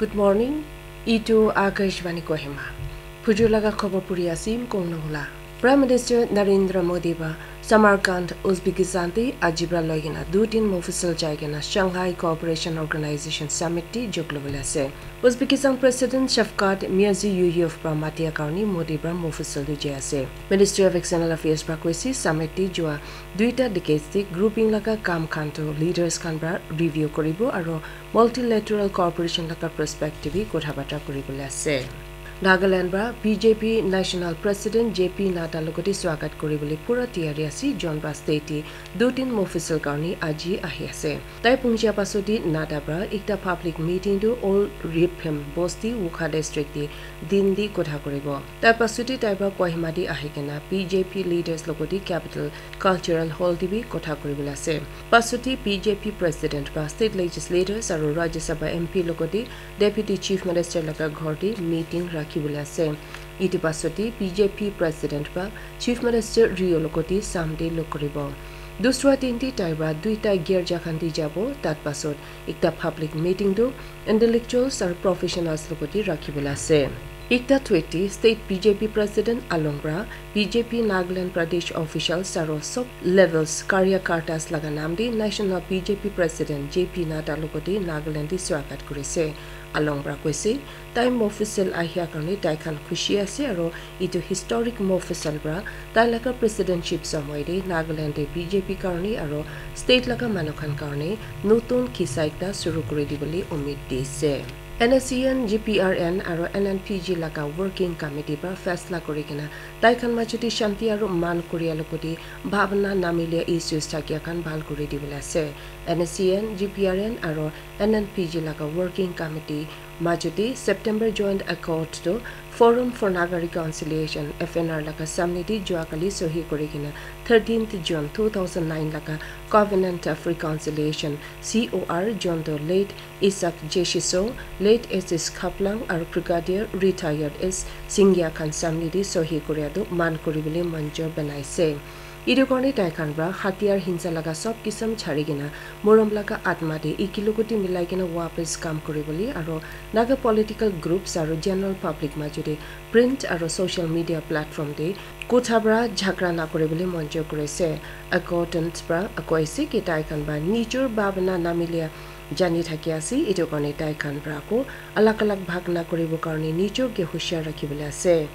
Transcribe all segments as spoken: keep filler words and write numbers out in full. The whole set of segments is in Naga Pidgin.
Good morning. Itu Akashvani Kohima. Phujur laga khobor puri asim kong nohula. Prime Minister Narendra Modi ba Samarkand, Uzbekistan te aji pra loi kena dutin Mofussil jai kena Shanghai Cooperation Organization Summit te jog lobole ase. Uzbekistan President Shavkat Mirziyoyev pra matia karni Modi pra Mofussil tu jai ase. Ministry of External Affairs pra koise summit te jua duita decades te grouping laga kam khan to leaders khan pra review koribo aro multilateral cooperation laga perspective bi kotha batra koribole ase. Nagaland pra B J P National President J P Nadda logoti swagat koribole pura tiyari ase, jon pra state te dutin Mofussil karni aji ahi ase. Tai punjia pasoti Nadda pra ekta public meeting tu all Riphem Bosti Wokha district te din di kotha koribo. Tai pasoti tai pra Kohima di ahi kena B J P leaders logoti capital Cultural Hall te bi kotha koribole ase. Pasoti B J P President pra State Legislators aro Rajya Sabha M P logoti Deputy Chief Minister laga ghor te meeting rakhibole ase. Itu pasoti B J P President pra Chief Minister Rio logoti samde log koribo. Dusra din te tai pra duita girja khan te jabo, tat pasot ekta public meeting tu intellectuals aro professionals logoti rakhibole ase. Ekta tweet te state B J P president along pra B J P Nagaland Pradesh officials aro sob levels karyakartas laga nam te National B J P president J P Nadda logoti Nagaland te swagat korise. Along pra koise, tai Mofussil ahia karni tai khan khushi ase aro itu historic Mofussil pra tai laga presidentship somoy te Nagaland te B J P karni aro state laga manu khan karni notun kisa ekta suru kuri dibole umid dise. N S C N, G P R N aro N N P G laga working committee pra faisla kuri kena tai khan majote shanti aro man koria logoti bhabna namilia issues thakia khan bhal kuri dibole ase. N S C N, G P R N aro N N P G laga working committee majote September joint accord to Forum for Naga Reconciliation, F N R laga samne te jua kali sohi kuri kena thirteenth June two thousand nine laga Covenant of Reconciliation, C O R, jon to late Isaac Jeshiso, late S S Khaplang aro Brigadier Retired S Singya khan samne te sohi kuria tu man kuribole manjor banaise. Itu karne tai khan pra hatiyar hingsa laga sob kisam chari kena morom laga atma te eki logoti milai kena wapas kam kuribole aro Naga political groups aro general public majote print aro social media platform te kotha pra jhagara na kuribole manjor kurise. Accordant pra koise ki tai khan pra nijor bhabna namilia jani thaki ase, itu karne tai khan pra ako alag alag bhag na kuribo karne nijor ke hushiar rakhibole ase.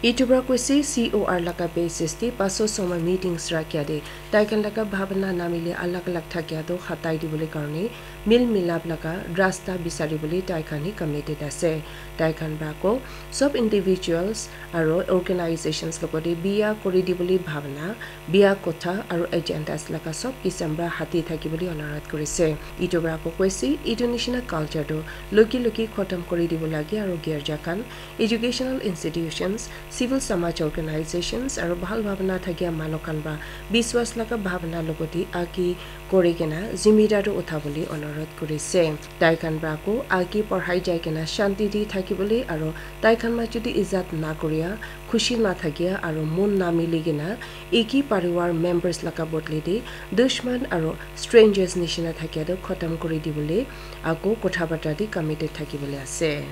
Itu pra koise C O R laga basis te paso somoi meetings rakhia te tai khan laga bhabna namilia alag alag thakia to hatai dibole karne mil milap laga rasta bisaribole tai khan hi committed ase. Tai khan pra ako sob individuals aro organizations logoti biya kuri dibole bhabna biya kotha aro agendas laga sob kisam pra hati thakibole onurodh kurise. Itu pra ako koise, itu nishina culture tu luki luki khotom kuri dibo lage aro girja khan, educational institutions, civil samaj organizations aro bhal bhabna thakia manu khan pra biswas laga bhabna logoti agi kuri kena zimmedaru uthabole onurodh kurise. Tai khan pra ako agi porhai jai kena shanti te thakibole aro tai khan majote ijat na kuria, khushi na thakia aro mon na mili kena eki parivar members laga bodle te dushman aro strangers nishina thakia tu khotom kuri dibole ako kotha batra te committed thakibole ase.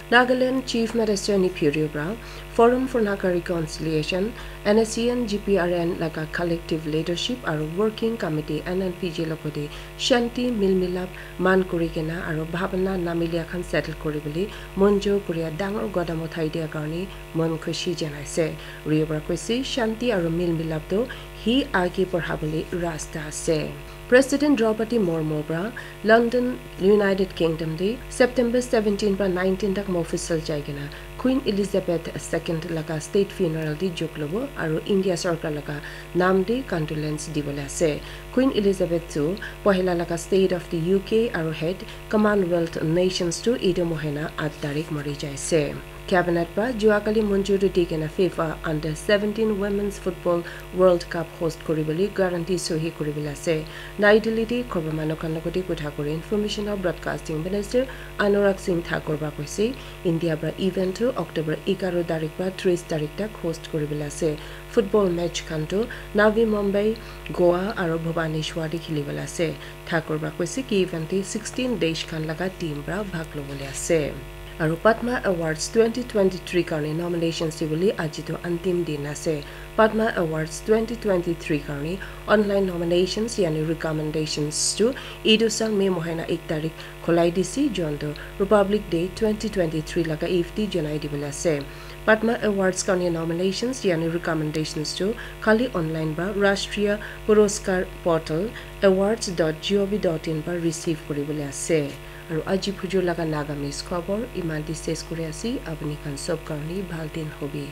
Nagaland Chief Minister Neiphiu Rio pra Forum for Naga Reconciliation, N S C N G P R N laga collective leadership aro working committee N N P G logoti shanti milmilap man kuri kena aro bhabna namilia khan settle kuribole manjor kuria dangor qadam uthai dia karne mon khushi janaise. Rio pra koise shanti aro milmilap to hi age porhabole rasta ase. President Draupadi Murmu pra London, United Kingdom te September seventeen pra nineteen tak Mofussil jai kena Queen Elizabeth second laga state funeral te jog lobo aro India sorkar laga nam te condolence dibole ase. Queen Elizabeth tu pohila laga State of the U K aro head Commonwealth Nations tu etu mohina at tarik mari jaise. Cabinet pra juakali monjuri di kena FIFA Under seventeen Women's Football World Cup host kuribole guarantee sohi kuribole ase. Nai Delhi te khobor manu khan logote kotha kuri Information aru Broadcasting Minister Anurag Singh Thakur pra koise, India pra event tu October egaro tarik pra tris tarik tak host kuribole ase. Football match khan tu Navi Mumbai, Goa aru Bhubaneswar te khilibole ase. Thakur pra koise ki event te sixteen desh khan laga team pra bhag lobole ase. Aru Padma Awards twenty twenty-three karne nominations dibole aji tu antim din ase. Padma Awards twenty twenty-three karne online nominations yani recommendations tu etu sal May mohina ek tarik khulai dise, jon tu Republic Day twenty twenty-three laga eve te janai dibole ase. Padma Awards karne nominations yani recommendations tu khali online pra Rashtriya Puraskar Portal awards dot gov dot in pra receive kuribole ase. Aru aji phujur laga Nagamese khobor iman te ses kuri ase. Apuni khan sob karne bhal din hobi.